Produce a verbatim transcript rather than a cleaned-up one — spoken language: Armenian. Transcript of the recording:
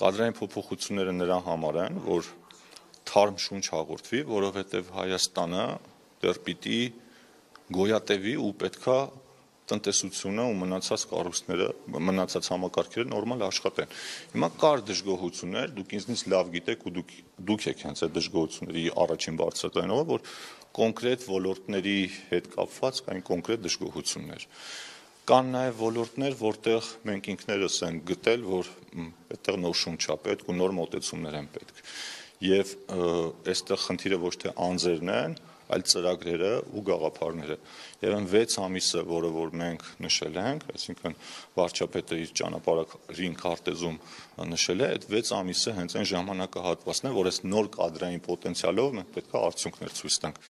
կադրային փոփոխությունները նրան համար են, որ թարմ շունչ հաղորդվի, որովհետև Հայաստանը դեռ պիտի գոյատևի ու պետքա տնտեսությունը ու մնացած կառույցները, մնացած համակարգերը նորմալ աշխատեն։ Հիմա կար դժգոհություններ, դուք ինձնից լավ գիտեք ու դուք դուք եք հենց այդ դժգոհությունների առաջին բարձրաձայնողը, որ կոնկրետ ոլորտների հետ կապված կային կոնկրետ դժգոհություններ։ Կան նաև ոլորտներ, որտեղ մենք ինքներս ենք գտել, որ այդտեղ նոր շունչ է պետք ու նոր մոտեցումներ են պետք։ Եվ այստեղ խնդիրը ոչ թե անձերն են, այլ ծրագրերը ու գաղափարները։ Եվ այն վեց ամիսը, որը որ մենք նշել ենք, այսինքն վարչապետը իր ճանապարհին քարտեզում նշել է, այդ վեց ամիսը հենց այն ժամանակահատվածն է, որ այս նոր կադրային պոտենցիալով մենք պետք է արդյունքներ ցույց տանք։